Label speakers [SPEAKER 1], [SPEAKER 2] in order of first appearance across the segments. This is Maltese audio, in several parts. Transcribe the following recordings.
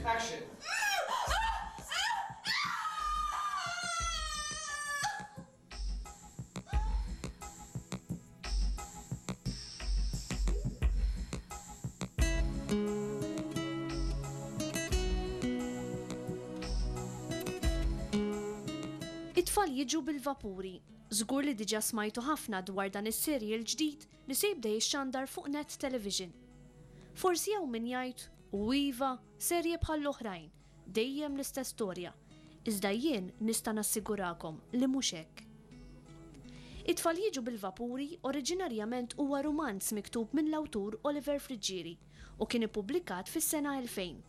[SPEAKER 1] Action!
[SPEAKER 2] It-tfal jiġu bil-vapuri. Żgur li diġà smajtu ħafna dwar dan is-serial ġdid li se jibda jixxandar fuq Net Television. Forsi hawn min jgħid, u iva, serje bħall-oħrajn, Dejjem l-istess storja. Iżda jien nista' nassigurakom li mhux hekk. It-Tfal Jiġu bil-Vapuri oriġinarjament huwa rumanz miktub minn l-awtur Oliver Friggieri u kien ippubblikat fis-sena 2000.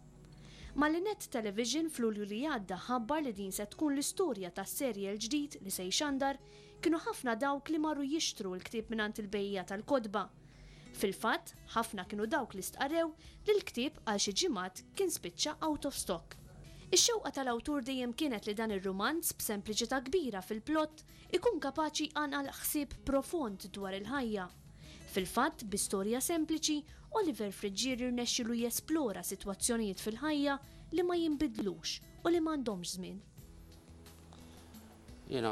[SPEAKER 2] Malli Net Television f'Lulju li għadda ħabbar li din se tkun l-istorja tas-serje l-ġdid li se jxandar, kienu ħafna dawk li marru jixtru l-ktieb mingħand il-bejjiegħa tal-kotba. Fil-fatt, ħafna kienu dawk li stqarrew li l-ktieb għal xi ġimgħat kien spiċċa out of stock. Ix-xewqa tal-awtur dejjem kienet li dan ir-rumanz, b'sempliċità kbira fil-plott, ikun kapaċi jqanqal ħsieb profond dwar il-ħajja. Fil-fatt, bi storja sempliċi, Oliver Friggieri rnexxielu jesplora sitwazzjonijiet fil-ħajja li ma jinbidlux u li m'għandhomx żmien.
[SPEAKER 3] Jiena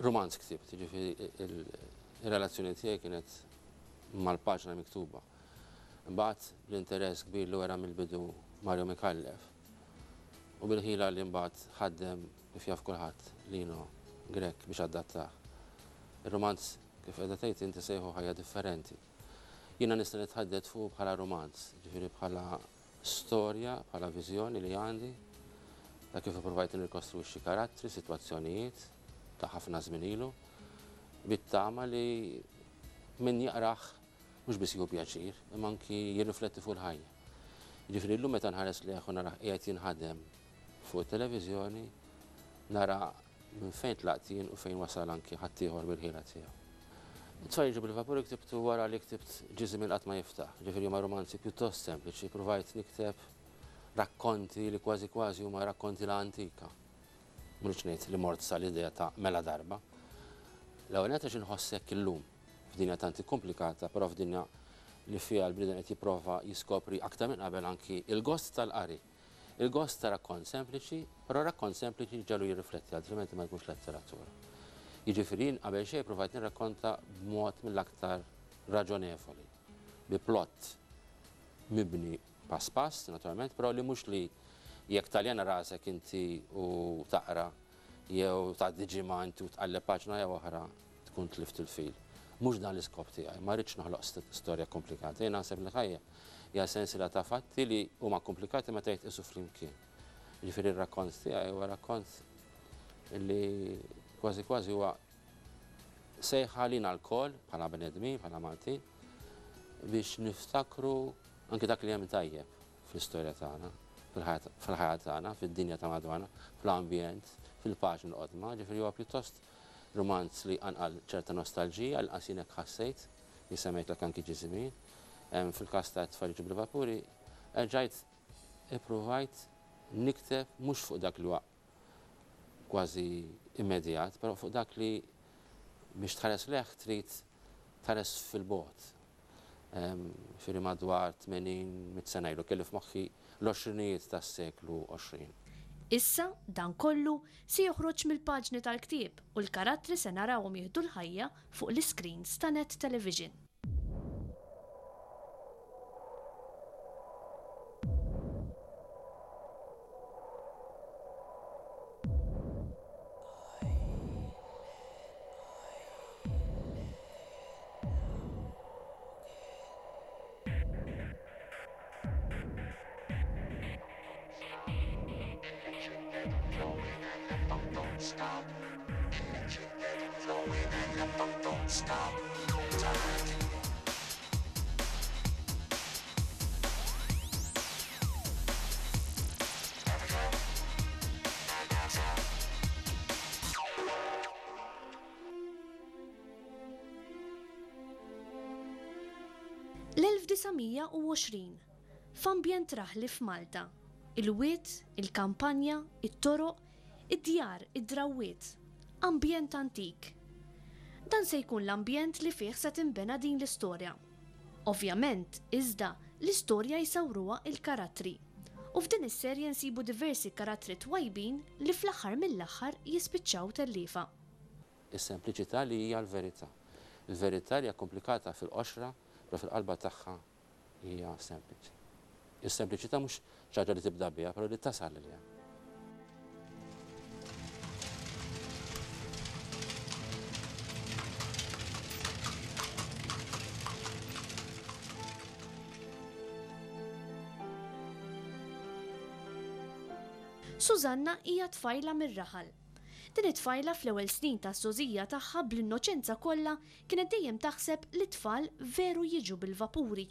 [SPEAKER 3] rumanz ktibt, jiġifieri r-relazzjoni tiegħi kienet mal-paġna miktuba. Imbagħad bl-interess kbir li wera mill-bidu Mario Micallef u bil-ħila li mbagħad ħaddem kif jaf kulħadd Lino Grech biex adattah. Ir-rumanz kif qiegħda tgħid inti sejħu ħajja differenti. Jiena nista' nitħaddet fuqu bħala rumanz, ġifieri bħala storja, bħala viżjoni li għandi ta' kif ippruvajt nirrikostruixxi karattri, sitwazzjonijiet ta' ħafna żmien ilu, bit-tama li min jaqrah mhux biss jieħu pjaċir, imma anki jirrifletti fuq il-ħajja. Jiġifieri llum meta nħares lejh u narah qiegħed jinħadem fuq it-televiżjoni, nara minn fejn tlaqt jien u fejn wasal anki ħaddieħor bil-ħila tiegħu. It-Tfal Jiġu bil-Vapuri ktibtu wara li ktibt Ġie Żmien Qatt Ma Jiftaħ, jiġifieri huma rumanzi pjuttost sempliċi, pruvajt nikteb rakkonti li kważi kważi huma rakkonti la antika. Mhux ngħid li mort sal-idea ta' mela darba. L-ewwel nett għax inħoss hekk illum, f'dinja tant ikkumplikata, però f'dinja li fiha l-bniedem qed jipprova jiskopri aktar minn qabel anki l-gost tal-qari. Il-gost ta' rakkont sempliċi, però rakkont sempliċi ġagħlu jirrifletti altrimenti ma jkunx letteratura. Jiġifieri jien qabel xejn provajt nirrakkonta b'mod mill-aktar raġonevoli, bi plott mibni pass pass, naturalment, però li mhux li jekk taljana rasek inti u taqra jew tgħaddi ġimgħa inti u tqalleb paġna jew oħra tkun tlift il-fil. Mhux dan l-iskop tiegħi, ma rridx noħloq storja komplikata. Jien naħseb li ħajja hija sensiela ta' fatti li huma komplikati meta jitqisu flimkien. Jiġifieri r-rakkont tiegħi huwa rakkont li kważi kważi huwa sejħa lina lkoll bħala bnedmin, bħala Maltin, biex niftakru anki dak li hemm tajjeb fl-istorja tagħna, fil-ħajja tagħna, fid-dinja ta' madwarna, fl-ambjent, fil-paġni l-qodma, ġifieri huwa pjuttost rumanz li jqanqal ċerta nostalġija, għall-inqas jien hekk ħassejt, li semmejtlek anki ġie żmien. Fil-każ ta' Tfal Jiġu bil-Vapuri, erġajt ippruvajt nikteb mhux fuq dak li huwa kważi immedjat, però fuq dak li biex tħares lejh trid tħares fil-bogħod. Ġifieri madwar 80, mitt sena ilu, kelli f'moħħi l-għoxrinijiet tas-seklu 20.
[SPEAKER 2] Issa, dan kollu se joħroġ mill-paġni tal-ktieb u l-karattri se narawhom jieħdu l-ħajja fuq l-iscreens ta' Net Television. L-1920, f'ambjent raħli f'Malta. Il-wied, il-kampanja, it-toroq, id-djar, id-drawwiet. Ambjent antik. Dan se jkun l-ambjent li fih se tinbena din l-istorja. Ovvjament, iżda, l-istorja jsawruha il-karattri. U f'din is-serje nsibu diversi karattri twajbin li fl-aħħar mill-aħħar jispiċċaw telliefa.
[SPEAKER 3] Is-sempliċità li hija l-verità. Il-verità li hija komplikata fil-qoxra, però fil-qalba tagħha hija sempliċi. Is-sempliċità mhux xi ħaġa li tibda biha, però li tasal għaliha.
[SPEAKER 2] Susanna hija tfajla mir-raħal. Din it-tfajla fl-ewwel snin taż-żgħożija tagħha bl-innoċenza kollha kienet dejjem taħseb li t-tfal veru jiġu bil-vapuri.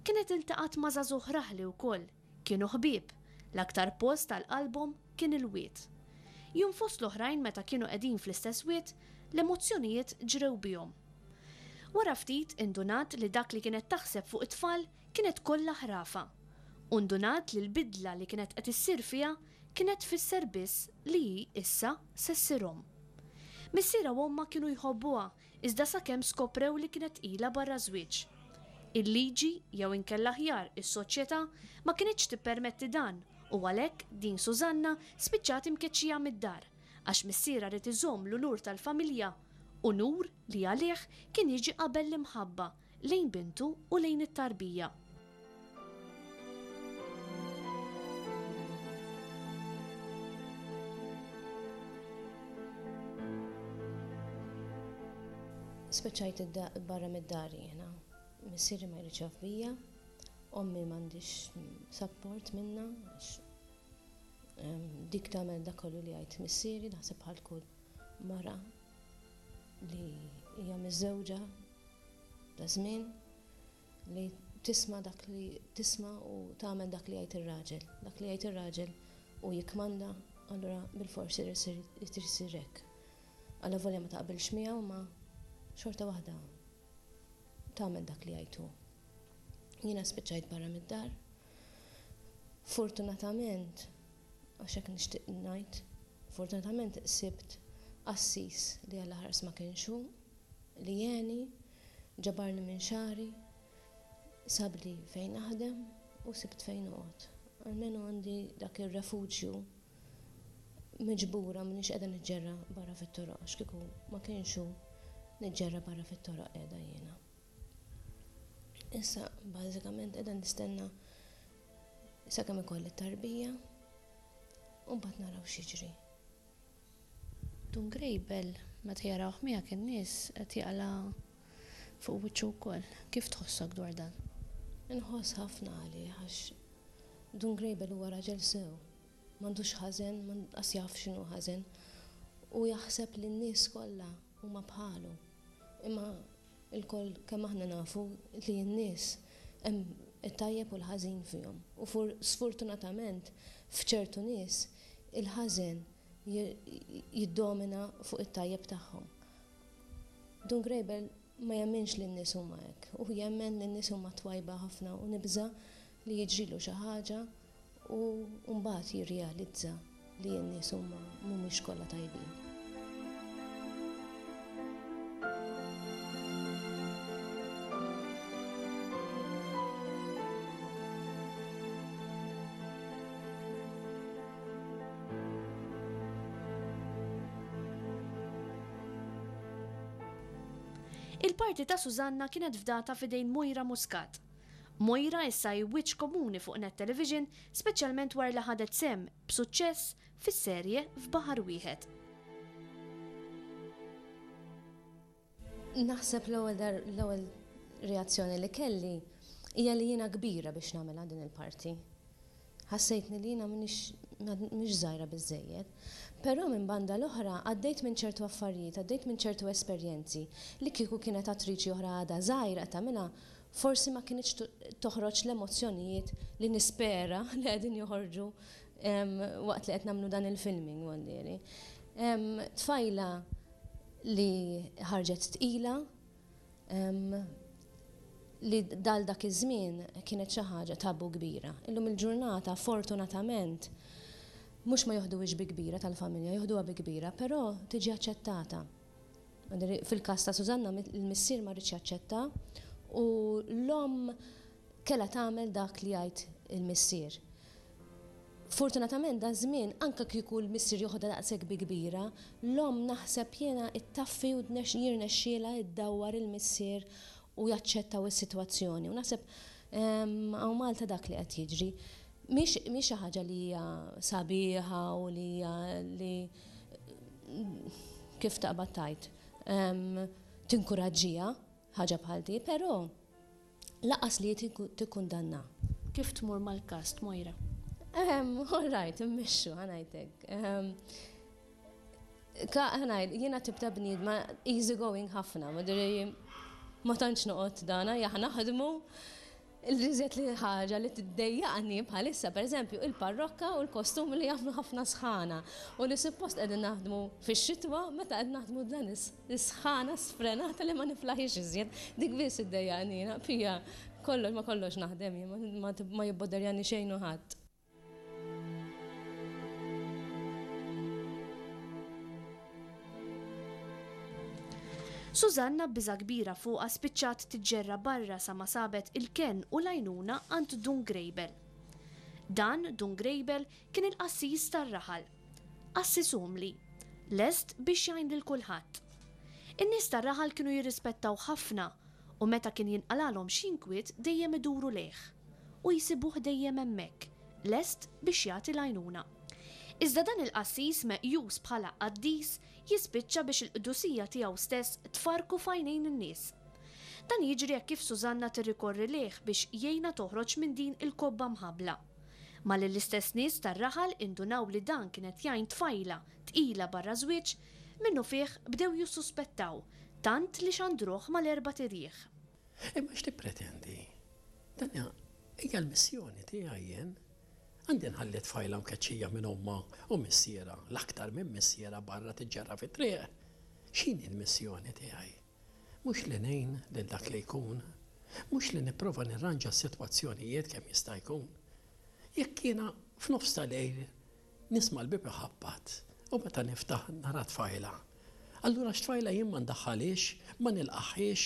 [SPEAKER 2] Kienet iltaqgħet ma' żagħżugħ raħli wkoll, kienu ħbieb, l-aktar post għal qalbhom kien il-wied. Jum fost l-oħrajn meta kienu qegħdin fl-istess wied, l-emozzjonijiet ġrew bihom. Wara ftit indunat li dak li kienet taħseb fuq it-tfal kienet kollha ħrafa. U ndunat li l-bidla li kienet qed issir fiha kienet tfisser biss li hi issa se ssir omm. Missierha u ommha kienu jħobbuha iżda sakemm skoprew li kienet tqila barra ż-żwieġ. Il-liġi, jew inkella aħjar is-soċjetà, ma kinitx tippermetti dan u għalhekk din Susanna spiċċat imkeċċija mid-dar għax missierha ried iżomm l-unur tal-familja, unur li għalih kien jiġi qabel l-imħabba lejn bintu u lejn it-tarbija.
[SPEAKER 1] Spiċċajt barra mid-dar jiena. Missieri ma jridx jaf bija, ommi m'għandix support minnha għax dik tagħmel dak kollu li jgħid missieri, naħseb bħal kull mara li hija miżżewġa ta' żmien li tisma' dak li tisma' u tagħmel dak li jgħid ir-raġel. Dak li jgħid ir-raġel u jikkmanda, allura bilfors irid isir hekk. Allavolja ma taqbilx miegħu ma xorta waħda tagħmel dak li jgħid hu. Jiena spiċċajt barra mid-dar. Fortunatament, għax hekk nixtieq ngħid, fortunatament sibt qassis li Alla ħares ma kienx hu, li għeni, ġabarni minn xagħri, sabli fejn naħdem u sibt fejn noqgħod. Almenu għandi dak ir-refuġju miġbura m'iniex qiegħda niġġerra barra fit-toroq għax kieku ma kienx hu niġġerra barra fit-toroq qiegħda jiena. Issa bażikament qiegħda nistenna sakemm ikolli t-tarbija u mbagħad naraw x'jiġri.
[SPEAKER 4] Dun Grejbel meta jarawh miegħek in-nies qed jaqla' fuq wiċċu wkoll. Kif tħossok dwar dan?
[SPEAKER 1] Inħoss ħafna għalih għax Dun Grejbel huwa raġel sew. M'għandux ħażen, lanqas jaf x'inhu ħażen. Hu jaħseb li n-nies kollha huma bħalu. Imma Ilkoll kemm aħna nafu li n-nies hemm it-tajjeb u l-ħażin fihom. U sfortunatament f'ċertu nies il-ħażen jiddomina fuq it-tajjeb tagħhom. Dun Grejbel ma jemminx li n-nies huma hekk. Hu jemmen li n-nies huma twajba ħafna u nibża' li jiġrilu xi ħaġa U mbagħad jirrealizza li n-nies huma mhumiex kollha tajbin.
[SPEAKER 2] Il-parti ta' Susanna kienet fdata f'idejn Moira Muscat. Moira issa hi wiċċ komuni fuq Net Television speċjalment wara li ħadet sehem, b'suċċess, fis-serje F'Baħar Wieħed.
[SPEAKER 1] Naħseb l-ewwel l-ewwel reazzjoni li kelli hija li jiena kbira biex nagħmilha din il-parti. Ħassejtni li jiena m'iniex m'iniex żgħira biżżejjed. Però minn banda l-oħra għaddejt minn ċertu affarijiet, għaddejt minn ċertu esperjenzi li kieku kienet attriċi oħra għadha żgħira qed tagħmilha forsi ma kinitx toħroġ l-emozzjonijiet li nispera li qegħdin joħorġu waqt li qed nagħmlu dan il-filming għallieri. Tfajla li ħarġet tqila li dal dak iż-żmien kienet xi ħaġa tabu kbira. Illum il-ġurnata fortunatament mhux ma joħduhiex bi kbira tal-familja, joħduha bi kbira, però tiġi aċċettata. Fil-każ ta' Susanna il-missier ma riedx jaċċetta u l-omm kellha tagħmel dak li jgħid il-missier. Fortunatament daż-żmien anke kieku l-missier joħodha daqshekk bi kbira, l-omm naħseb jiena ttaffi u jirnexxielha ddawwar il-missier u jaċċettaw is-sitwazzjoni. U naħseb hawn Malta dak li qed jiġri. Mhix mhix xi ħaġa li hija sabiħa u li hija li kif taqbad tgħid tinkuraġġiha ħaġa bħal di, però Laqas li tikkundanna.
[SPEAKER 4] Kif tmur mal-kast, Moira?
[SPEAKER 1] All right, immexxu, ħa ngħid hekk. Ħa ngħid, jiena tip ta' bniedma easy going ħafna, ma ma tantx noqgħod dana, jaħ naħdmu. L-iżjed li ħaġa li tiddejjaqni bħalissa, pereżempju, il-parrokka u l-kostum li jagħmlu ħafna sħana u li suppost qegħdin naħdmu fix-xitwa meta qed naħdmu dan Is-sħana sfrenata li ma niflaħiex iżjed, dik biss iddejjaqni jiena, Pia, kollox ma kollox naħdem jien, ma jibboderjani xejn u ħadd.
[SPEAKER 2] Susanna b'biża' kbira fuqha spiċċat tiġġerra barra sa ma sabet il-kenn u l-għajnuna għand Dun Grejbel. Dan, Dun Grejbel, kien il-qassis tar-raħal. Qassis umli, lest biex jgħin lil kulħadd. In-nies tar-raħal kienu jirrispettawh ħafna u meta kien jinqalgħalhom xi inkwiet dejjem iduru lejh u jsibuh dejjem hemmhekk, lest biex jagħti l-għajnuna. Iżda dan il-qassis meqjus bħala qaddis jispiċċa biex il-qdusija tiegħu stess tfarrku f'għajnejn in-nies. Dan jiġri hekk kif Susanna tirrikorri lejh biex jgħinha toħroġ minn din il-kobba mħabbla. Malli l-istess nies tar-raħal indunaw li dan kien qed jgħin tfajla tqila barra żwieġ, minnufih bdew jissuspettaw, tant li xandruh mal-erbat irjieħ.
[SPEAKER 5] Imma x'tippretendi? Dan hija l-missjoni tiegħi jien. Għandi nħalli tfajla mkeċċija minn ommha u missierha, l-aktar minn missierha barra tiġġerra fit-triq? X'inhi l-missjoni tiegħi? Mhux li ngħin lil dak li jkun. Mhux li nipprova nirranġa s-sitwazzjonijiet kemm jista' jkun. Jekk jiena f'nofs ta' lejl nisma' l-bieb iħabbat u meta niftaħ nara tfajla, allura x'tfajla jien ma ndaħħalhiex, ma nilqagħhiex,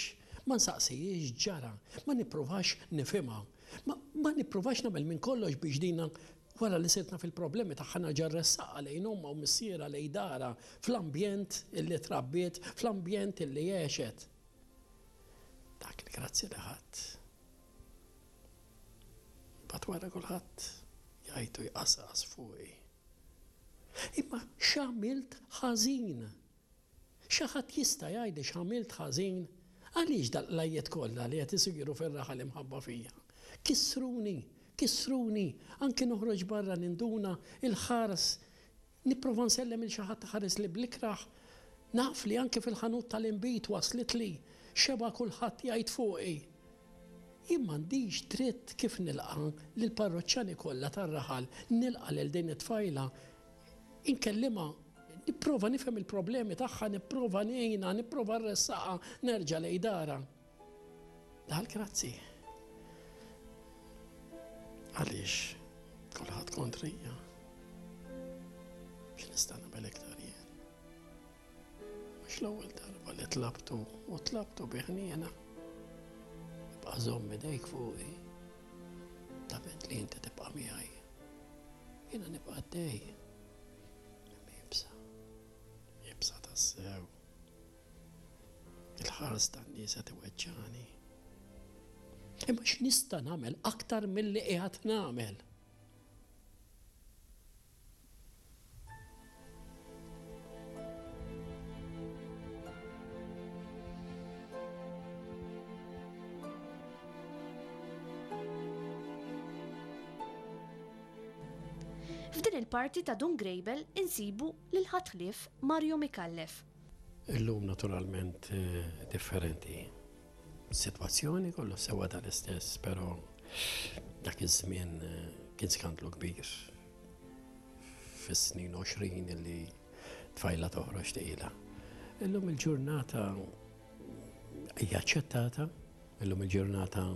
[SPEAKER 5] ma nsaqsihiex x'ġara, ma nippruvax nifhimha, ma ma nippruvax nagħmel minn kollox biex dina Wara li sirt naf il-problemi tagħha nerġa' rressaqha lejn ommha u missierha, lejn darha, fl-ambjent illi trabbiet, fl-ambjent illi għexet. Dak il-grazzi li ħadt. Imbagħad wara kulħadd jgħid u jqasqas fuqi. Imma x'għamilt ħażin? Xi ħadd jista' jgħidli x'għamilt ħażin? Għaliex dal-qlajjiet kollha li qed isiru fir-raħal imħabba fija? Kissruni, kissruni, anki noħroġ barra ninduna il-ħars, nipprova nsellem 'il xi ħadd iħarisli bl-ikrah. Naf li anki fil-ħanut tal-inbid waslitli xebgħa kulħadd jgħid fuqi. Jien m'għandix dritt kif nilqa' lill-parroċċani kollha tar-raħal, nilqa' lil din it-tfajla Inkellimha, nipprova nifhem il-problemi tagħha, nipprova ngħinha, nipprova nressaqha nerġa' lejn darha. Dal grazzi. Għaliex kulħadd kontrija. X'nista' nagħmel iktar jien? Mhux l-ewwel darba li tlabtu u tlabtu bi ħniena. Ibqa' żomm idejk fuqi. Dament li inti tibqa' miegħi. Jiena nibqa' għaddej. Imma iebsa. Iebsa tassew. Il-ħars tan-nies qed iweġġagħni. Imma x'nista' nagħmel aktar milli qiegħed nagħmel?
[SPEAKER 2] F'din il-parti ta' Dun Grejbel insibu lil ħadd ħlief Mario Micallef.
[SPEAKER 5] Illum naturalment differenti. Sitwazzjoni kollox sewwa tal-istess, però dak iż-żmien kien skandlu kbir. Fis-snin 20 illi tfajla toħroġ tqila. Illum il-ġurnata hija aċċettata, illum il-ġurnata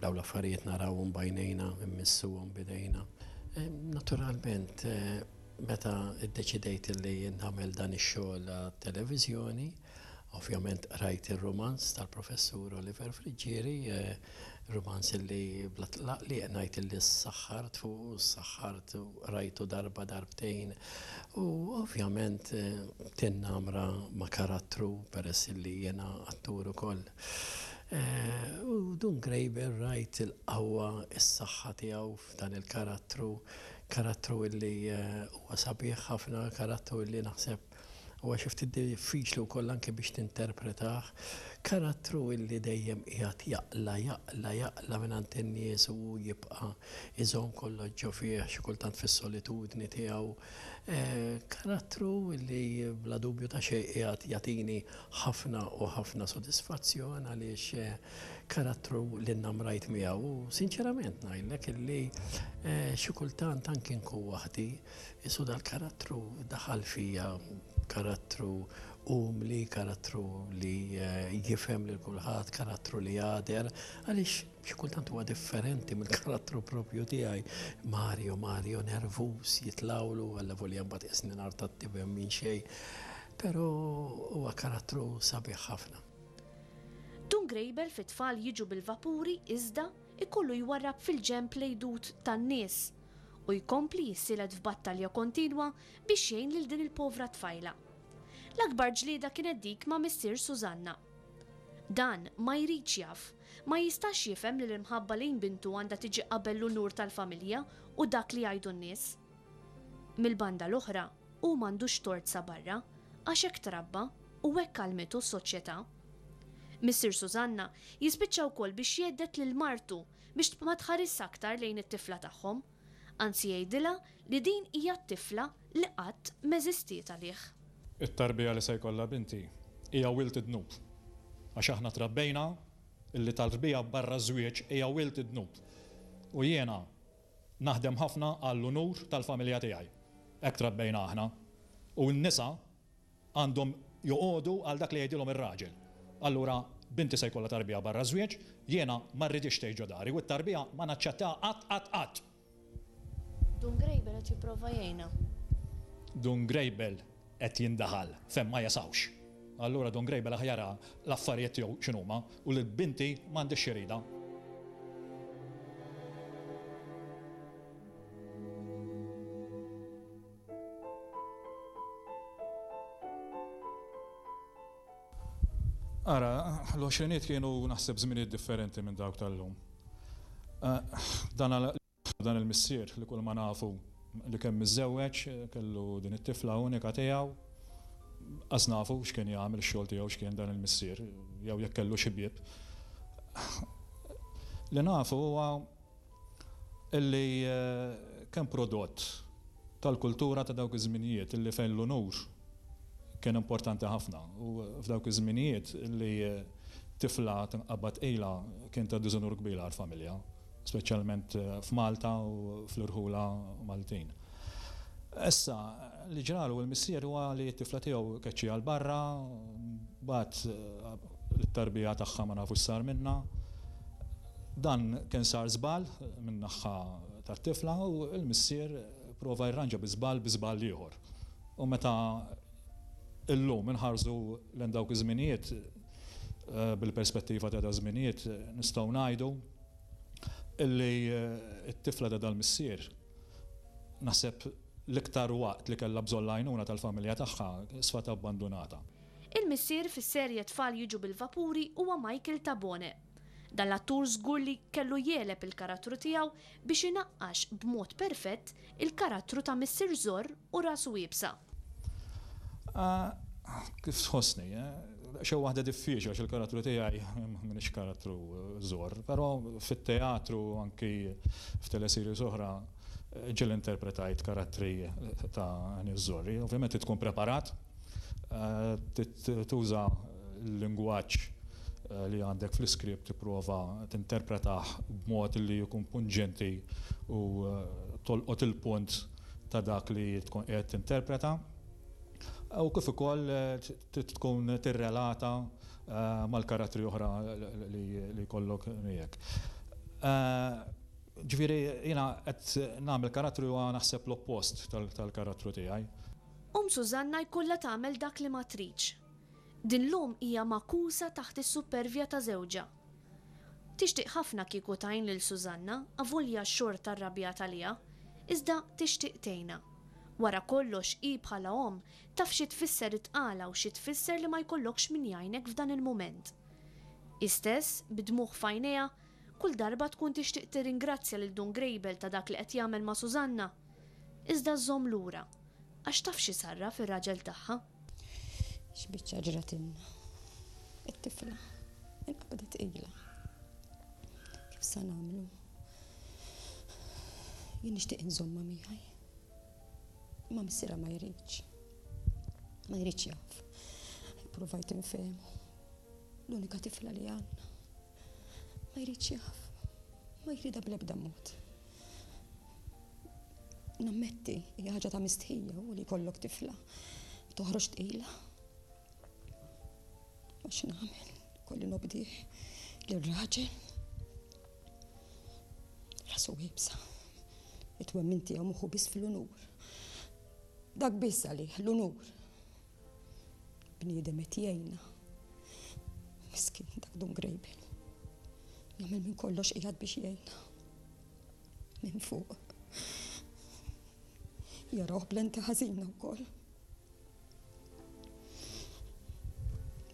[SPEAKER 5] Dawn l-affarijiet narawhom b'għajnejna, immissuhom b'idejna. Naturalment, meta ddeċidejt li nagħmel dan ix-xogħol għat-televiżjoni, ovvjament qrajt ir-rumanz tal-Professur Oliver Friggieri. Rumanz illi bla tlaqliq ngħid illi ssaħħart fuqu, ssaħħart u qrajtu darba darbtejn u ovvjament tinnamra ma' karattru peress illi jiena attur ukoll. U Dun Grejbel rajt il-qawwa, is-saħħa tiegħu f'dan il-karattru, karattru illi huwa sabiħ ħafna, karattru illi naħseb Huwa xi ftit diffiċli wkoll anke biex tinterpretah. Karattru illi dejjem qiegħed jaqla', jaqla', jaqla' mingħand in-nies u hu jibqa' jżomm kollox ġo fih, xi kultant fis-solitudni tiegħu. Karattru illi bla dubju ta' xejn qiegħed jagħtini ħafna u ħafna sodisfazzjon għaliex karattru li nnamrajt miegħu u sinċerament ngħidlek illi xi kultant anki nkun waħdi Qisu dal-karattru daħal fija, karattru umli, karattru li jifhem lil kulħadd, karattru li jagħder, għaliex xi kultant huwa differenti mill-karattru propju tiegħi. Mario, Mario nervuż, jitlgħulu, allavolja mbagħad qisni nar tat-tiben minn xejn, però huwa karattru sabiħ ħafna.
[SPEAKER 2] Dun Grejbel fit-tfal jiġu bil-vapuri iżda ikollu jwarrab fil-ġenb l-għidut tan-nies u jkompli jissielet f'battalja kontinwa biex jgħin lil din il-povra tfajla. L-akbar ġlieda kienet dik ma' missier Susanna. Dan ma jridx jaf, ma jistax jifhem li l-imħabba lejn bintu għandha tiġi qabel l-unur tal-familja u dak li jgħidu n-nies. Mill-banda l-oħra, hu m'għandux tort sa barra, għax hekk trabba u hekk għallmitu s-soċjetà. Missier Susanna jispiċċa wkoll biex jhedded lil martu biex ma tħarisx aktar lejn it-tifla tagħhom, anzi jgħidilha li din hija t-tifla li qatt m'eżistiet għalih.
[SPEAKER 6] It-tarbija li se jkollha binti hija wild id-dnub. Għax aħna trabbejna illi tarbija barra ż-żwieġ hija wild id-dnub. U jiena naħdem ħafna għall-unur tal-familja tiegħi. Hekk trabbejna aħna. U n-nisa Għandhom joqogħdu għal dak li jgħidilhom ir-raġel. Allura binti se jkollha tarbija barra ż-żwieġ, jiena ma rridhiex tgħix ġo dari u t-tarbija ma naċċettaha qatt qatt qatt!
[SPEAKER 4] Dun Grejbel qed jipprova jgħinha.
[SPEAKER 6] Dun Grejbel qed jindaħal fejn ma jesgħux. Allura Dun Grejbel aħjar jara l-affarijiet tiegħu x'inhuma u lil binti m'għandhiex x'iridha. Ara, l-għoxriniet kienu naħseb żminijiet differenti minn dawk tal-lum. Dan dan il-missier li kull ma nafu li kemm miżżewweġ, kellu din it-tifla unika tiegħu, qas nafu x'kien jagħmel ix-xogħol tiegħu x'kien dan il-missier jew jekk kellux ħbieb. Li nafu huwa illi kien prodott tal-kultura ta' dawk iż-żminijiet illi fejn l-unur kien importanti ħafna u f'dawk iż-żminijiet illi tifla tinqabad tqila kien ta' diżunur kbir għall-familja, speċjalment f'Malta u fl-irħula Maltin. Issa, li ġralu l-missier huwa li t-tifla tiegħu keċċieha 'l barra, mbagħad it-tarbija tagħha ma nafux x'sar minnha. Dan kien sar żball min-naħa tat-tifla u l-missier prova jirranġa bi żball bi żball ieħor. U meta illum inħarsu lejn dawk iż-żminijiet bil-perspettiva ta' daż-żminijiet nistgħu ngħidu illi t-tifla ta' dal-missier naħseb l-iktar waqt li kellha bżonn l-għajnuna tal-familja tagħha sfat abbandunata.
[SPEAKER 2] Il-missier fis-serje Tfal jiġu bil-vapuri huwa Michael Tabone. Dan l-attur żgur li kellu jegħleb il-karattru tiegħu biex inaqqax b'mod perfett il-karattru ta' missier żorr u rasu iebsa.
[SPEAKER 6] Kif tħossni? Daqsxejn waħda diffiċli għax il-karattru tiegħi m'iniex karattru żorr, però fit-teatru anki f'teleseries oħra ġieli interpretajt karattri ta' nies żorri. Ovvjament trid tkun preparat, trid tuża l-lingwaġġ li għandek fl-iskript tipprova tinterpretah b'mod li jkun punġenti u tolqot il-punt ta' dak li tkun qiegħed tinterpreta u kif ukoll trid tkun tirrelata mal-karattri oħra li jkollok miegħek. Ġifieri jiena qed nagħmel karattru huwa naħseb l-oppost tal-karattru tiegħi.
[SPEAKER 2] Omm Susanna jkollha tagħmel dak li ma tridx. Din l-omm hija magħkusa taħt is-suppervja ta' żewġha. Tixtieq ħafna kieku tgħin lil Susanna avolja xorta rrabjat għaliha, iżda tixtieq tgħinha. Wara kollox hi bħala omm taf xi tfisser it-tqala u xi tfisser li ma jkollokx min jgħinek f'dan il-mument. Hi stess, bid-dmugħ f'għajnejha, kull darba tkun tixtieq tirringrazzja lil Dun Grejbel ta' dak li qed jagħmel ma' Susanna. Iżda żżomm lura, għax taf x'isarraf ir-raġel tagħha.
[SPEAKER 7] X'biċċa ġratilna. It-tifla inqabdet tqila. Kif sa nagħmlu? Jien nixtieq inżommha miegħi. Imma missierha ma jridx. Ma jridx jaf. Ippruvajt infehmu. L-unika tifla li għandna. Ma jridx jaf. Ma jridha bl-ebda mod. Nammetti, hija ħaġa ta' mistħija u li jkollok tifla toħroġ tqila. Ma x'nagħmel, kolli nobdih lir-raġel. Rasu iebsa. It-twemmin tiegħu moħħu biss fl-unur. Dak biss għalih, l-unur. Bniedem qed jgħinna. Miskin dak Dun Grejbel. Jagħmel minn kollox qiegħed biex jgħinna. Minn fuq. Jarawh b'lenti ħażina wkoll.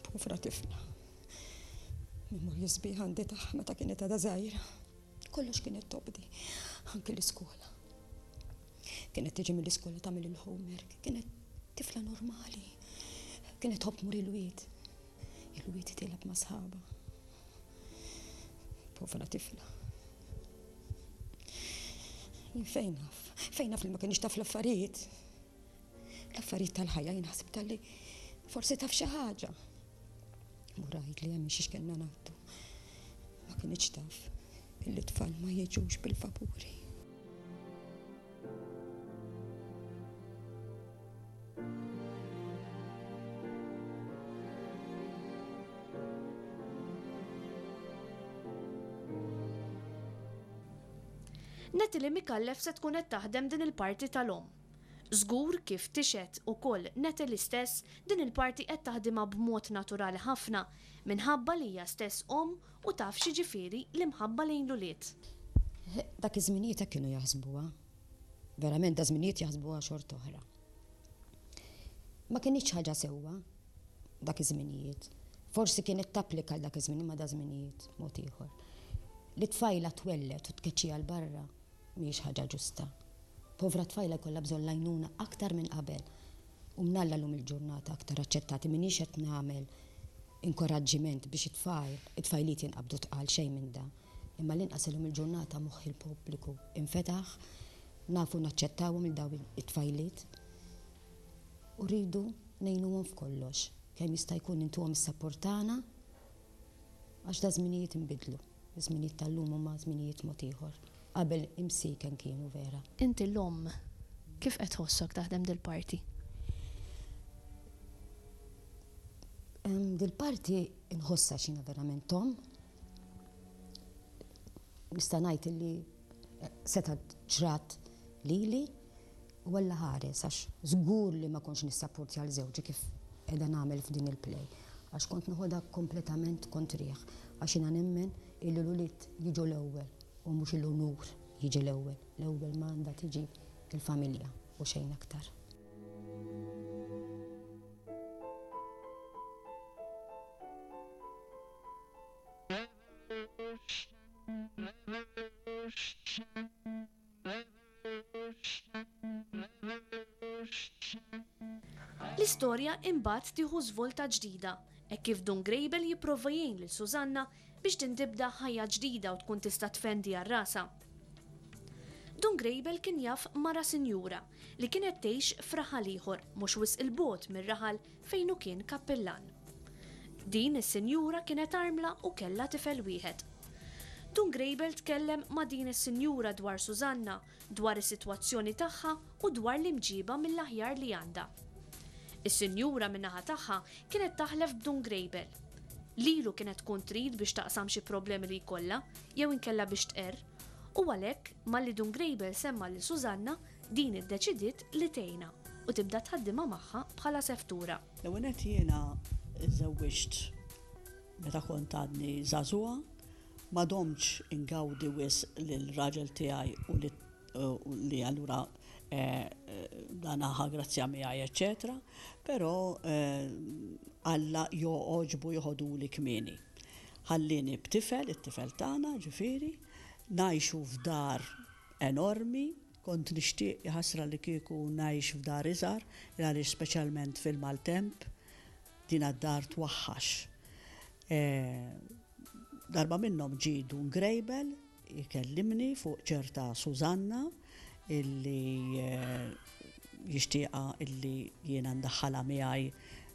[SPEAKER 7] Povra tifla. Memorji sbieħ għandi tagħha meta kienet għadha żgħira. Kollox kienet tobdi, anki l-iskola. Kienet tiġi mill-iskola tagħmel il-homework, kienet tifla normali. Kienet tħobb tmur il-wied. Il-wied tilgħab ma' sħabha. Povra tifla. Jien fejn naf? Fejn naf li ma kienx taf l-affarijiet? L-affarijiet tal-ħajja jien ħsib tal-li forsi taf xi ħaġa. Murajt li hemm xiex kellna ngħaddu. Ma kienx taf illi tfal ma jiġux bil-vapuri.
[SPEAKER 2] Natalie Micallef se tkun qed taħdem din il-parti tal-omm. Żgur kif tixhed ukoll Natalie stess din il-parti qed taħdimha b'mod naturali ħafna minħabba li hija stess omm u taf x'jiġifieri l-imħabba lejn l-ulied.
[SPEAKER 7] Dak iż-żminijiet hekk kienu jaħsbuha. Verament da żminijiet jaħsbuha xorta oħra. Ma kinitx ħaġa sewwa dak iż-żminijiet. Forsi kienet tapplika għal dak iż-żmien imma da żminijiet mod ieħor. Li tfajla twelled u tkeċċiha 'l barra mhijiex ħaġa ġusta. Povra tfajla jkollha bżonn l-għajnuna aktar minn qabel. U mnalla llum il-ġurnata aktar aċċettati m'iniex qed nagħmel inkoraġġiment biex it-tfajl, it-tfajliet jinqabdu tqal xejn minn da. Imma l-inqas illum il-ġurnata moħħ il-pubbliku infetaħ, nafu naċċettawhom lil dawn it-tfajliet u rridu ngħinuhom f'kollox, kemm jista' jkun intuhom is-sapport tagħna għax da żminijiet inbidlu. Iż-żminijiet tal-lum huma żminijiet mod ieħor. Qabel imsieken kienu vera.
[SPEAKER 4] Inti l-omm, kif qed tħossok taħdem dil-parti?
[SPEAKER 7] Dil-parti nħossha għax jiena verament omm. Nista' ngħid illi setgħet ġrat lili u Alla ħares għax żgur li ma kontx nissapportja 'l żewġi kif qiegħda nagħmel f'din il-play għax kont noħodha kompletament kontrih għax jiena nemmen illi l-ulied jiġu l-ewwel u mhux l-unur jiġi l-ewwel. L-ewwel ma għandha tiġi l-familja u xejn aktar.
[SPEAKER 2] L-istorja imbagħad tieħu żvolta ġdida hekk kif Dun Grejbel jipprova jgħin lil Susanna biex din tibda ħajja ġdida u tkun tista' tfendi għal rasha. Dun Grejbel kien jaf mara sinjura li kienet tgħix f'raħal ieħor mhux wisq 'il bogħod mir-raħal fejn hu kien kappillan. Din is-sinjura kienet armla u kellha tifel wieħed. Dun Grejbel tkellem ma' din is-sinjura dwar Susanna, dwar is-sitwazzjoni tagħha u dwar l-imġiba mill-aħjar li għandha. Is-sinjura min-naħa tagħha kienet taħlef b'Dun Grejbel. Lilu kienet tkun trid biex taqsam xi problemi li jkollha jew inkella biex tqerr, u għalhekk malli Dun Grejbel semma lil Susanna, Din iddeċidiet li tgħinha u tibda tħaddimha magħha bħala seftura.
[SPEAKER 8] L-ewwel nett jiena żżewwiġt meta kont għadni żagħżugħa. Ma domtx ingawdi wisq lill-raġel tiegħi u li li allura dan ħa grazzja miegħi eċċetera, però Alla jogħġbu joħoduli kmieni. Ħallieni b'tifel, it-tifel tagħna ġifieri, ngħixu f'dar enormi, kont nixtieq jaħasra li kieku ngħix f'dar iżgħar, il għaliex speċjalment fil-maltemp dina d-dar twaħħax. Darba minnhom ġie Dun Grejbel jkellimni fuq ċerta Susanna illi jixtieqha illi jiena ndaħħalha miegħi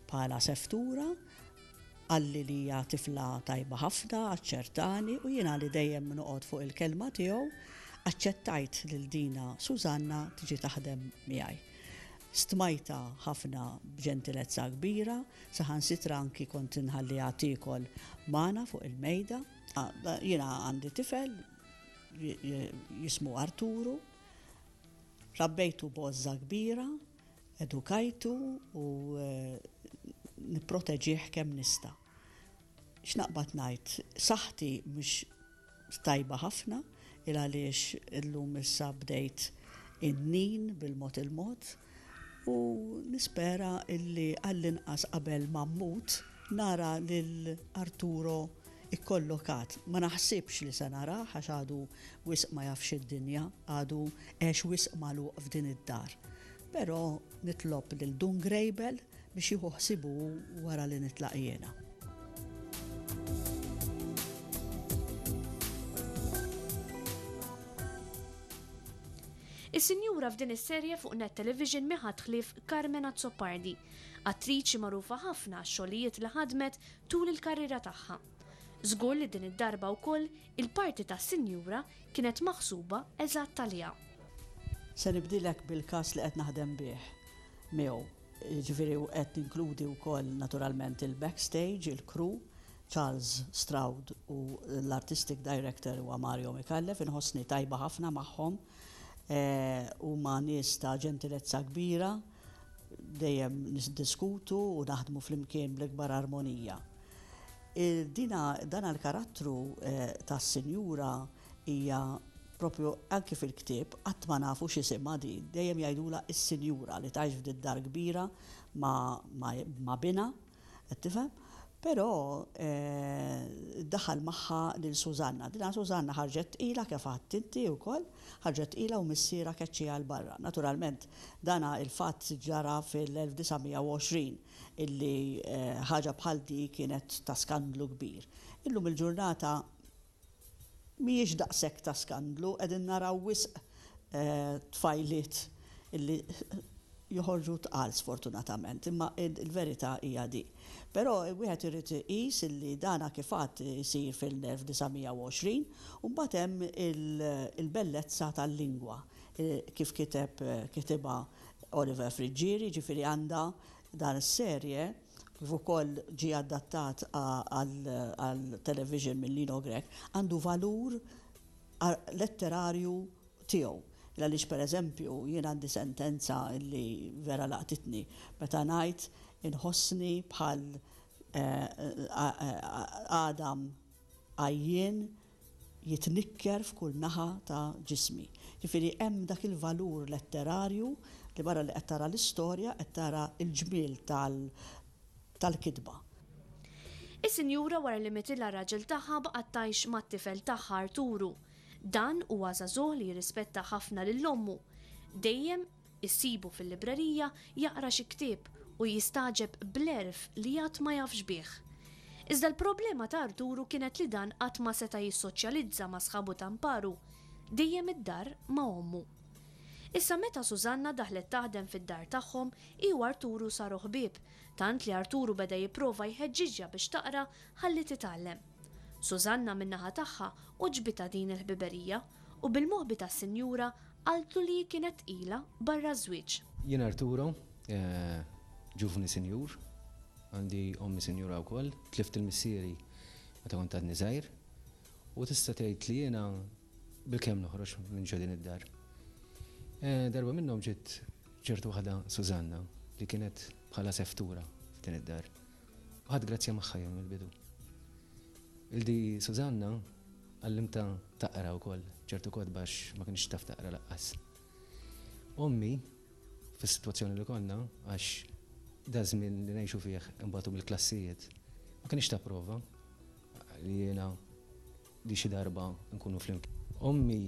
[SPEAKER 8] bħala seftura. Qalli li hija tifla tajba ħafna, aċċertani u jiena li dejjem noqgħod fuq il-kelma tiegħu, aċċettajt lil dina Susanna tiġi taħdem miegħi. Stmajtha ħafna b'ġentilezza kbira, saħansitra anki kont inħalliha tiekol magħna fuq il-mejda. Jiena għandi tifel jismu Arturu, rabbejtu b'għożża kbira, edukajtu u nipproteġih kemm nista'. X'naqbad ngħid, saħħti mhix tajba ħafna il għaliex illum issa bdejt innin bil-mod il-mod u nispera illi għall-inqas qabel ma mmut nara lil Arturo ikkollokat. Ma naħsibx li se narah għax għadu wisq ma jafx id-dinja, għadu għex wisq magħluq f'din id-dar. Però nitlob lil Dun Grejbel biex jieħu ħsiebu hu wara li nitlaq jiena.
[SPEAKER 2] Is-sinjura f'din is-serje fuq Net Television mhi ħadd ħlief Carmen Azzopardi, attriċi magħrufa ħafna għax-xogħlijiet li ħadmet tul il-karriera tagħha. Żgur li din id-darba wkoll il-parti tas-sinjura kienet maħsuba eżatt għaliha.
[SPEAKER 8] Se nibdilek bil-cast li qed naħdem bih miegħu. Jiġifieri qed ninkludi wkoll naturalment il-backstage, il-crew, Charles Stroud u l-artistic director huwa Mario Micallef, inħossni tajba ħafna magħhom. Huma nies ta' ġentilezza kbira, dejjem niddiskutu u naħdmu flimkien bl-ikbar armonija. Dina, dan l-karattru tas-sinjura hija propju anki fil-ktieb qatt ma nafu x'isimha din, dejjem jgħidulha s-sinjura li tgħix f'did-dar kbira ma' ma' binha, qed tifhem? Però daħal magħha lil Susanna. Dina Susanna ħarġet tqila kif għedt inti wkoll, ħarġet tqila u missierha keċċieha 'l barra. Naturalment dana il-fatt ġara fil-1920 illi ħaġa bħal di kienet ta' skandlu kbir. Illum il-ġurnata mhijiex daqshekk ta' skandlu, qegħdin naraw wisq tfajliet illi joħorġu tqal sfortunatament, imma l-verità hija di. Però wieħed irid iqis illi dana kif għadt isir fil-1920 u mbagħad hemm il-bellezza tal-lingwa kif kiteb kitibha Oliver Friggieri, jiġifieri għandha dan is-serje kif ukoll ġie adattat għal television minn Lino Grech, għandu valur letterarju tiegħu. Għaliex pereżempju jien għandi sentenza li vera laqtitni meta ngħid inħossni bħal għadam għajjien jitnikker f'kull naħa ta' ġismi. Ġifieri hemm dak il-valur letterarju li barra li qed tara l-istorja qed tara l-ġmiel tal-kitba.
[SPEAKER 2] Is-sinjura wara li mitilha r-raġel tagħha baqgħet tgħix mat-tifel tagħha Arturu. Dan huwa żagħżugħ li jirrispetta ħafna lil ommu. Dejjem Issibu fil-librerija jaqra xi ktieb u jistagħġeb bl-għerf li għad ma jafx bih. Iżda l-problema ta' Arturu kienet li dan qatt ma seta' jissoċjalizza ma' sħabu ta' mparu, dejjem id-dar ma' ommu. Issa meta Susanna daħlet taħdem fid-dar tagħhom, hi u Arturu saru ħbieb, tant li Arturu beda jipprova jħeġġiġha biex taqra ħalli titgħallem. Susanna min-naħa tagħha għoġbitha din il-ħbiberija u bil-moħbi tas-sinjura Qaltlu li hi kienet tqila barra ż-żwieġ.
[SPEAKER 3] Jien Arturo, ġuvni sinjur, għandi ommi sinjura wkoll, tlift il-missieri meta kont għadni żgħir u tista' tgħid li jiena bilkemm noħroġ minn ġo din id-dar. Darba minnhom ġiet ċertu waħda Susanna li kienet bħala seftura f'din id-dar. U ħadt grazzja magħha jien mill-bidu. Il-di Susanna.
[SPEAKER 9] Għallimtha taqra wkoll ċertu kotba għax ma kinitx taf taqra laqqas. Ommi, fis-sitwazzjoni li konna, għax daż-żmien li ngħixu fih inbatu mill-klassijiet, ma kinitx tapprova li jiena li xi darba nkunu flimkien. Ommi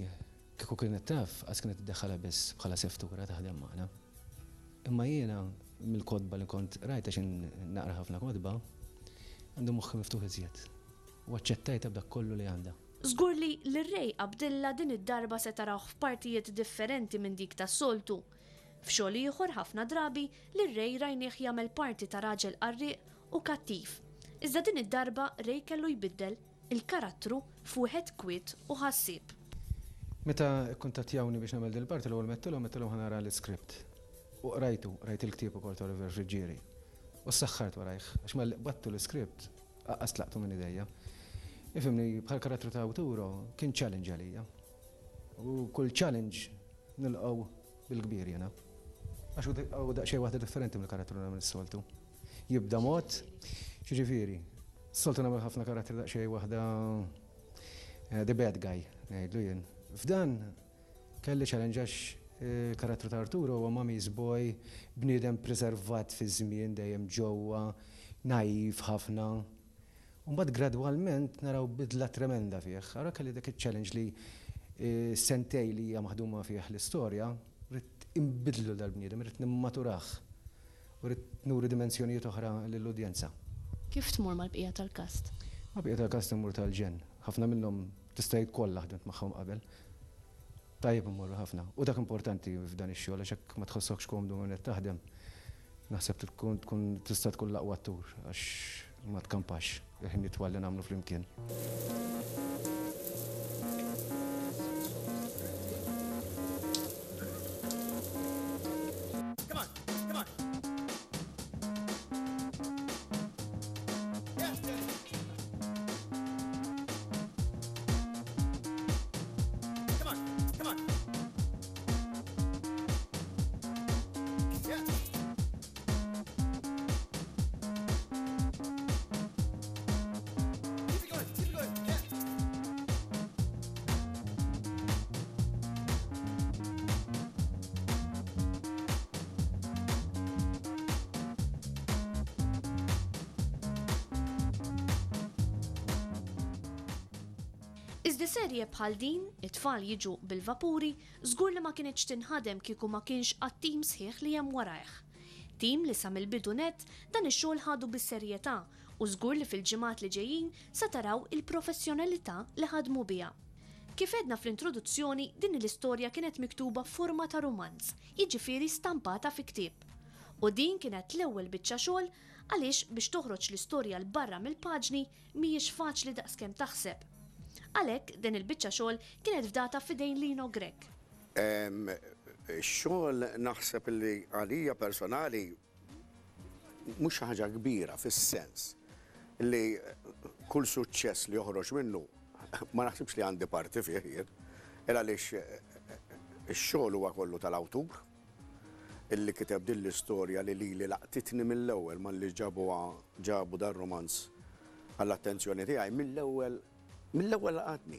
[SPEAKER 9] kieku kienet taf, qas kienet iddaħħalha biss bħala seftura taħdem magħna. Imma jiena mill-kotba li kont qrajt għax naqra ħafna kotba, għandi moħħi miftuħ iżjed. U aċċettajtha b'dak kollu li għandha.
[SPEAKER 2] Żgur li lil Ray Abdilla din id-darba se tarawh f'partijiet differenti minn dik tas-soltu. F'xogħol ieħor ħafna drabi lil Ray rajnieh jagħmel parti ta' raġel qarrieq u kattiv. Iżda din id-darba Ray kellu jbiddel il-karattru f'wieħed kwiet u ħassieb.
[SPEAKER 9] Meta kkuntattjawni biex nagħmel dil-parti l-ewwel m'għedtilhom għedtilhom ħa nara l-iskript. U qrajtu, qrajt il-ktieb ukoll ta' Oliver Friggieri. U ssaħħart warajh għax malli qbadtu l-iskript aqqas tlaqtu minn idejja. Ifhimni, bħal karattru ta' Arturo kien challenge għalija. U kull challenge nilqgħu bil-kbir jiena. Għax hu daqsxejn waħda differenti mill-karattru li nagħmel is-soltu. Jibda mod, x'jiġifieri, s-soltu nagħmel ħafna karattri daqsxejn waħda the bad guy, ngħidlu jien. F'dan kelli challenge għax il-karattru ta' Arturo huwa mommy's boy, bniedem preservat fiż-żmien dejjem ġewwa, naive ħafna. U mbagħad gradwalment naraw bidla tremenda fih. Allura kelli dak iċ-challenge li s-sentej li hija maħduma fih l-istorja, ridt inbiddlu dal-bniedem, ridt nimmaturah u ridt nuri dimensjonijiet oħra lill-udjenza.
[SPEAKER 4] Kif tmur mal-bqija tal-kast?
[SPEAKER 9] Mal-bqija tal-kast immur tal-ġenn. Ħafna minnhom tista' tgħid kollha ħdimt magħhom qabel. Tajjeb immorru ħafna. U dak importanti f'dan ix-xogħol għax jekk ma tħossokx komdu ma' min qed taħdem, naħseb tkun tkun tista' tkun l-aqwa attur għax ma tkampax il-ħin itwal li nagħmlu flimkien.
[SPEAKER 2] Iżda serje bħal din, it-tfal jiġu bil-vapuri, żgur li ma kinitx tinħadem kieku ma kienx għat-tim sħiħ li hemm warajh. Tim li sa mill-bidu nett dan ix-xogħol ħadu bis-serjetà u żgur li fil-ġimgħat li ġejjin sa taraw il-professjonalità li ħadmu biha. Kif għedna fl-introduzzjoni, din l-istorja kienet miktuba f'forma ta' rumanz, jiġifieri stampata fi ktieb. U din kienet l-ewwel biċċa xogħol għaliex biex toħroġ l-istorja 'l barra mill-paġni mhijiex faċli daqskemm taħseb. Għalhekk din il-biċċa xogħol kienet fdata f'idejn Lino Grech.
[SPEAKER 10] Ix-xogħol naħseb li għalija personali mhux xi ħaġa kbira fis-sens li kull suċċess li joħroġ minnu ma naħsibx li għandi parti fih jien, il għaliex ix-xogħol huwa kollu tal-awtur illi kiteb din l-istorja li lili laqtitni mill-ewwel malli ġabuha ġabu dar-rumanz għall-attenzjoni tiegħi mill-ewwel mill-ewwel laqatni.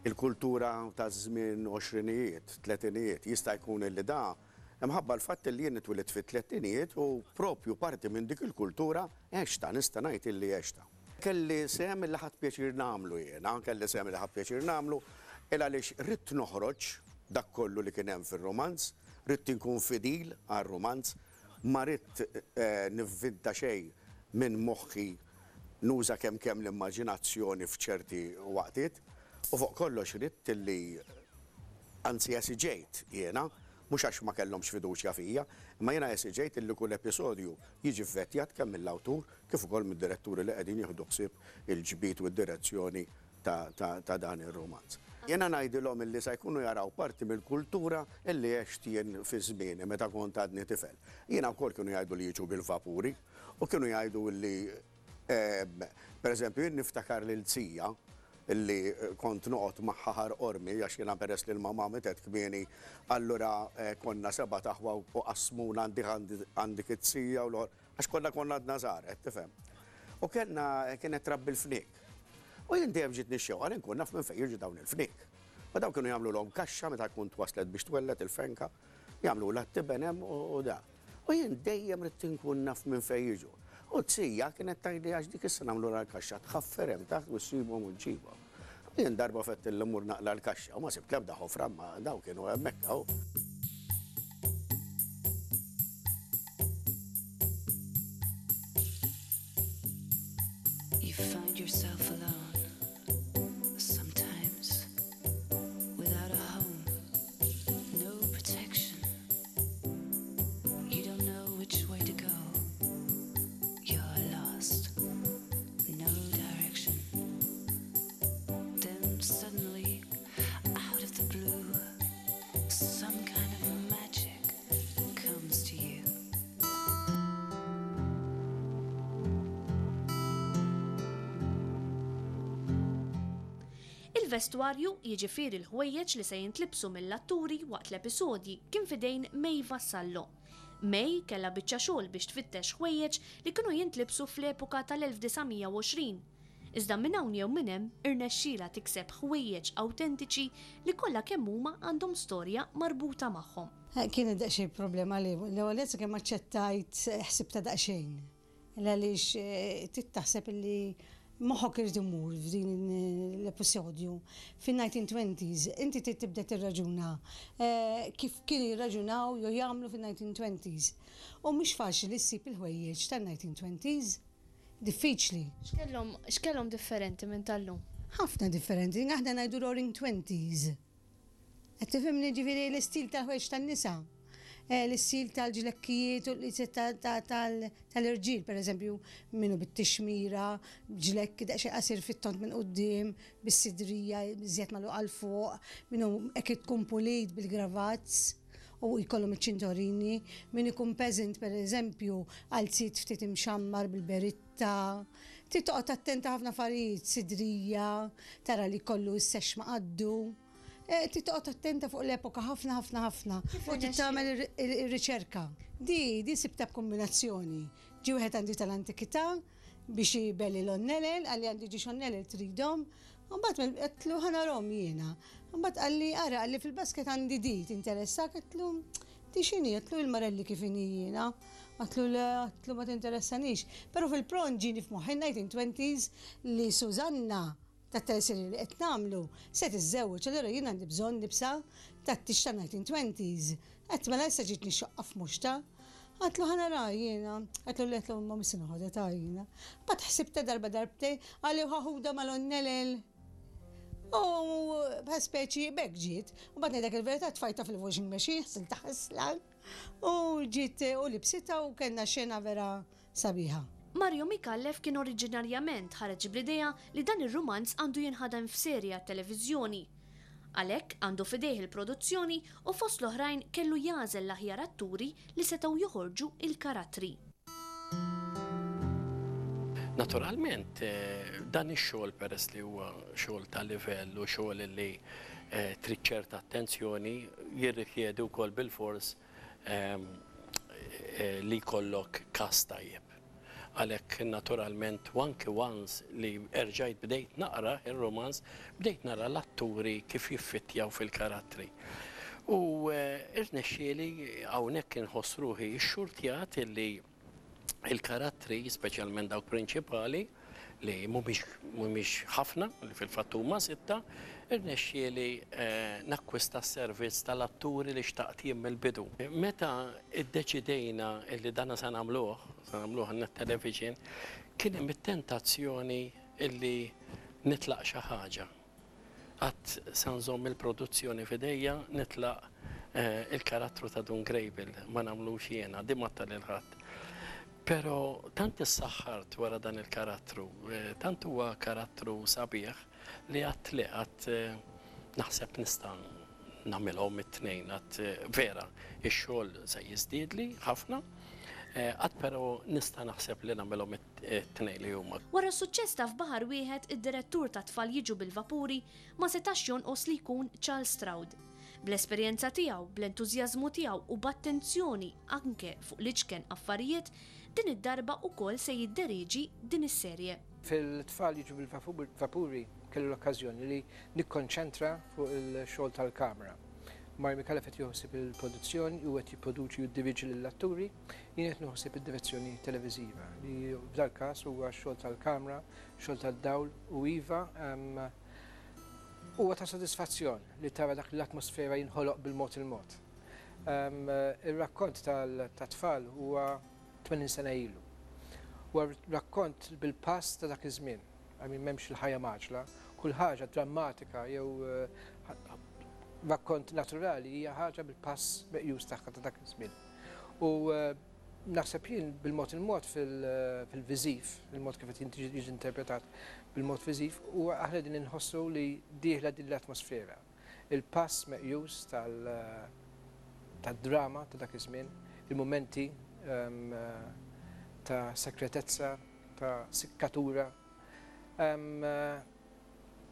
[SPEAKER 10] Il-kultura taż-żmien għoxrinijiet, tletinijiet, jista' jkun illi da imħabba l-fatt illi jien twilidt fit-tlettinijiet u propju parti minn dik il-kultura għextha, nista' ngħid illi għextha. Kelli sehem illi ħadt pjaċir nagħmlu jiena, kelli sehem illi ħadt pjaċir nagħmlu il għaliex ridt noħroġ dak kollu li kien hemm fir-rumanz, ridt inkun fidil għar-rumanz, ma ridt nivvinta xejn minn moħħi, nuża kemm kemm l-immaġinazzjoni f'ċerti waqtiet u fuq kollox ridt illi anzi esiġejt jiena, mhux għax ma kellhomx fiduċja fija, imma jiena esiġejt illi kull episodju jiġi vvettjat kemm mill-awtur kif ukoll mid-diretturi li qegħdin jieħdu ħsieb il-ġbid u d-direzzjoni ta' dan ir-rumanz. Jiena ngħidilhom illi sa jkunu jaraw parti mill-kultura illi għext jien fi żmieni meta kont għadni tifel. Jiena wkoll kienu jgħidu li jiġu bil-vapuri u kienu jgħidu illi pereżempju jien niftakar lil zija illi kont noqgħod magħha Ħar Qormi għax jiena peress li l-mamà mietet kmieni allura konna sebat aħwa u qassmuna għand dik iz-zija u l-oħra. Għax kollha konna għadna żgħar, qed tifhem. U kellna kienet trabbi l-fniek. U jien dejjem ġietni x-xewqa li nkun naf minn fejn jiġu dawn il-fniek. U dawn kienu jagħmlulhom kaxxa meta tkun twaslet biex twelled il-fenka, jagħmlulha t-tiben hemm u da. U jien dejjem ridt inkun naf minn fejn jiġu. U z-zija kienet tgħidli għax dik issa nagħmlulha l-kaxxa tħaffer hemm taħt u ssibhom u ġġibhom. U jien darba fettilli mmur naqla' l-kaxxa u ma sibt l-ebda ħofra imma dawn kienu hemmhekk hawn.
[SPEAKER 11] You find yourself alone sometimes without a home, no protection. You don't know which way to go. You're lost, no direction. Then suddenly, out of the blue, some kind of magic comes to you.
[SPEAKER 2] Il-vestwarju, jiġifieri l-ħwejjeġ li se jintlibsu mill-atturi waqt l-episodji, kien f'idejn May Vassallo. May kellha biċċa xogħol biex tfittex ħwejjeġ li kienu jintlibsu fl-epoka tal-1920. Iżda minn hawn jew minn hemm irnexxielha tikseb ħwejjeġ awtentiċi li kollha kemm huma għandhom storja marbuta magħhom.
[SPEAKER 12] Kienet daqsxejn problema li l-ewwel nett sakemm aċċettajt ħsibtha daqsxejn. Għaliex trid taħseb illi moħħok irid imur f'din l-episodju fin-1920s. Inti trid tibda tirraġuna kif kienu jirraġunaw jew jagħmlu fin-1920s. U mhux faċli ssib il-ħwejjeġ tan-1920s. Diffiċli.
[SPEAKER 4] X'kellhom x'kellhom differenti minn tal-lum?
[SPEAKER 12] Ħafna differenti. Aħna ngħidu roaring twenties. Qed tifhimni ġifieri l-istil tal-ħwejjeġ tan-nisa. Eh, l-istil tal-ġlekkijiet u l-istil tal-irġiel, pereżempju, minnu bit-tixmira, ġlekk daqsxejn qasir fit-tont minn quddiem, bis-sidrija iżjed magħluqa 'l fuq, minnu hekk tkun pulit bil-gravats u jkollhom iċ-ċintorini, min ikun peasant pereżempju, qalziet ftit imxammar bil-beritta. Trid toqgħod attenta ħafna affarijiet, sidrija, tara li jkollu s-sexx ma' qaddu. Eh, trid toqgħod attenta fuq l-epoka ħafna ħafna ħafna. U trid tagħmel ir-riċerka. Di, di sibta b'kombinazzjoni. Ġie wieħed għandi tal-antikità biex ibelli l-onnelel, qalli għandi ġiex onnelel tridhom. Mbagħad għedtlu ħa narhom jiena. Mbagħad qalli ara qalli fil-basket għandi di tinteressak għedtlu di x'inhi għedtlu il-marelli kif inhi jiena. Għedtlu le għedtlu ma tinteressanix. Però fil-pront ġieni f'moħħi 1920s li Susanna tat-teleserje li qed nagħmlu se tiżżewweġ allura jien għandi bżonn libsa tat-tieġ tan-1920s. Għedt mela issa ġietni x-xoqqa f'muxta. Għedtlu ħa naraha jiena. Għedtlu le għedtlu imma mhux se noħodha ta' jiena. Mbagħad ħsibtha darba darbtejn, qalli u ħa ħudha mal-onnelel. U bħal speċi b'hekk ġiet. U mbagħad ngħidlek il-verità tfajtha fil-washing machine, ħsiltha ħasla. U ġiet u libsitha u kellna xena vera sabiħa.
[SPEAKER 2] Mario Micallef kien oriġinarjament ħareġ bl-idea li dan ir-rumanz għandu jinħadem f'serje għat-televiżjoni. Għalhekk għandu f'idejh il-produzzjoni u fost l-oħrajn kellu jagħżel l-aħjar atturi li setgħu joħorġu il-karattri.
[SPEAKER 5] Naturalment dan ix-xogħol peress li huwa xogħol ta' livell u xogħol li trid ċerta attenzjoni jirrikjedi wkoll bilfors li jkollok cast tajjeb. Għalhekk naturalment u anki once li erġajt bdejt naqra ir-rumanz, bdejt nara l-atturi kif jiffittjaw fil-karattri. U rnexxieli hawnhekk inħoss ruħi xxurtjat illi il-karattri, speċjalment dawk prinċipali, li mhumiex mhumiex ħafna, li fil-fatt huma sitta, irnexxieli nakkwista s-servizz tal-atturi li xtaqt jien mill-bidu. Meta ddeċidejna li dana se nagħmluh, se nagħmluh għan-Net Television, kien hemm it-tentazzjoni li nitlaq xi ħaġa. Qatt sa nżomm il-produzzjoni f'idejja nitlaq il-karattru ta' Dun Grejbil, ma nagħmlux jiena, din m'għadtha lil ħadd. Però tant issaħħart wara dan il-karattru, tant huwa karattru sabiħ li għadt le, għadt naħseb nista' nagħmilhom it-tnejn, għadt vera x-xogħol se jiżdiedli ħafna, għadt però nista' naħseb li nagħmilhom it-tnejn li huma.
[SPEAKER 2] Wara s-suċċess ta' F'Baħar Wieħed, id-direttur ta' Tfal Jiġu bil-Vapuri ma setax jonqos li jkun Charles Stroud. Bl-esperjenza tiegħu, bl-entużjażmu tiegħu u b'attenzjoni anke fuq l-iċken affarijiet, din id-darba ukoll se jidderieġi din is-serje.
[SPEAKER 13] Fil-Tfal Jiġu bil-Vapuri kelli l-okkażjoni li nikkonċentra fuq il-xogħol tal-kamra. Mario Micallef qed jieħu ħsieb il-produzzjoni, hu qed jipproduċi u jiddiriġi lill-atturi, jien qed nieħu ħsieb id-direzzjoni televiżiva li f'dal-każ huwa x-xogħol tal-kamra, xogħol tad-dawl u iva huwa ta' sodisfazzjon li tara dak l-atmosfera jinħoloq bil-mod il-mod. Ir-rakkont tat-tfal huwa 80 sena ilu. Huwa rakkont bil-pass ta' dak iż-żmien. I mean m'hemmx il-ħajja mgħaġġla, kull ħaġa drammatika jew rakkont naturali hija ħaġa bil-pass meqjus tagħha ta' dak iż-żmien. U naħseb jien bil-mod il-mod fil-viżiv, il-mod kif qed jiġi interpretat bil-mod viżiv, huwa aħna qegħdin inħossu li dieħla din l-atmosfera. Il-pass meqjus tad-drama ta' dak iż-żmien, il-mumenti ta' sekretezza, ta' sikkatura,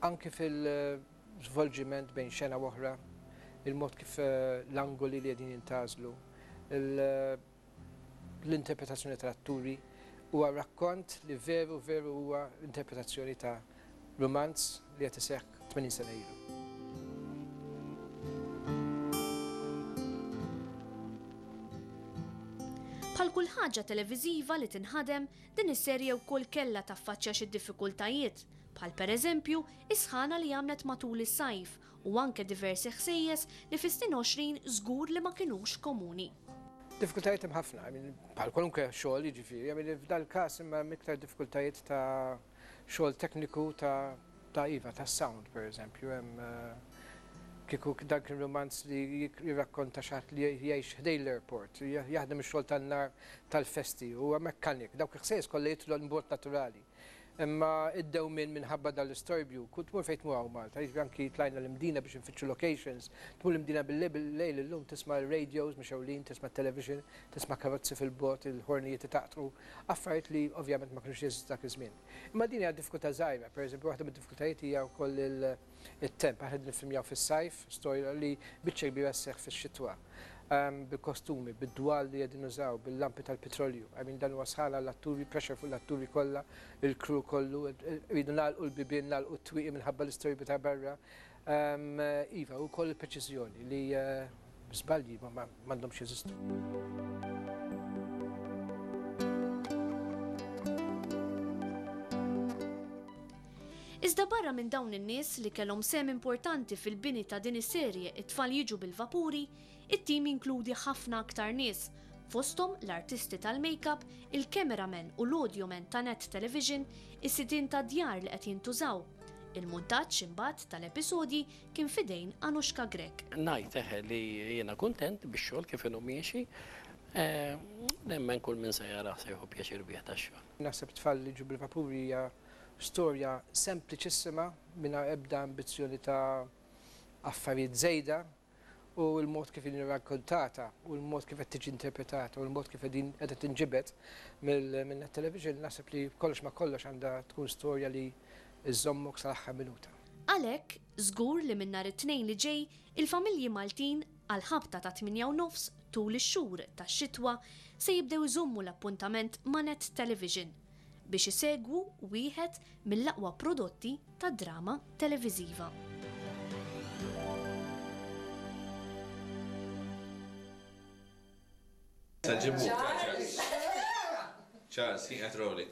[SPEAKER 13] anki fil-żvolġiment bejn xena u oħra, il-mod kif l-angoli li qegħdin jintgħażlu, l-interpretazzjoni tal-atturi, huwa rakkont li veru veru huwa interpretazzjoni ta' rumanz li qed iseħħ 80 sena ilu.
[SPEAKER 2] Bħal kull ħaġa televiżiva li tinħadem, din is-serje wkoll kellha taffaċċja xi diffikultajiet, bħal pereżempju is-sħana li għamlet matul is-sajf u anke diversi ħsejjes li fis-snin 20 żgur li ma kinux komuni.
[SPEAKER 13] Diffikultajiet hemm ħafna, bħal kwalunkwe xogħol jiġifieri, I mean f'dal-każ imma hemm iktar diffikultajiet ta' xogħol tekniku ta' ta' iva, ta' sound per eżempju, hemm kieku dan kien rumanz li jirrakkonta xi ħadd li jgħix ħdejn l-airport, jaħdem ix-xogħol tan-nar tal-festi, huwa mekkanik, dawk il-ħsejjes kollha jidħlu b'mod naturali. Imma id-dewmien minħabba dan l-istorbju, kull tmur fejn tmur hawn Malta, jiġifieri anki tlajna l-Imdina biex infittxu locations, tmur l-Imdina bil-lejl bil-lejl illum tisma' r-radios mixgħulin, tisma' t-television, tisma' karozzi fil-bogħod, il-ħornijiet itaqtqu, affarijiet li ovvjament ma kinux jeżistu dak iż-żmien. Imma din hija diffikultà żgħira, pereżempju waħda mid-diffikultajiet hija wkoll it-temp, aħna qegħdin niffilmjaw fis-sajf, storja li biċċa kbira sseħħ fix-xitwa. Bil-kostumi, bid-dwal li qegħdin nużaw, bil-lampi tal-pitrolju. I mean dan huwa sħana għall-atturi, pressure fuq l-atturi kollha, il-crew kollu, irridu nagħlqu l-bibien, nagħlqu t-twieqi minħabba l-istorbju ta' barra. Iva, u wkoll il-preċiżjoni li żbalji m'għandhomx jeżistu.
[SPEAKER 2] Iżda barra minn dawn in-nies li kellhom sehem importanti fil-bini ta' din is-serje It-Tfal Jiġu bil-Vapuri, it-tim jinkludi ħafna aktar nies, fosthom l-artisti tal-make-up, il-cameraman u l-audioman ta' Net Television, is-sidien tad-djar li qed jintużaw. Il-muntaġġ, imbagħad, tal-episodji kien f'idejn Anushka Grech.
[SPEAKER 5] Ngħid eħe li jiena kuntent bix-xogħol kif inhu miexi. Nemmen kull min se jarah se jieħu pjaċir bih dax-xogħol.
[SPEAKER 13] Naħseb Tfal Jiġu bil-Vapuri hija Storja sempliċissima mingħajr ebda ambizzjoni ta' affarijiet żejda u l-mod kif inhi rrakkontata u l-mod kif qed tiġi interpretata u l-mod kif qegħdin qiegħda tinġibed minn Net Television naħseb li kollox ma' kollox għandha tkun storja li żżommok sal-aħħar minuta.
[SPEAKER 2] Għalhekk, żgur li minn nhar it-Tnejn li ġej, il-familji Maltin, għall-ħabta tat-tmienja u nofs tul ix-xhur tax-xitwa, se jibdew iżommu l-appuntament ma' Net Television. biex isegwu wieħed mill-aqwa prodotti tad-drama televiżiva.
[SPEAKER 3] Charles! Charles, kien qed rolling.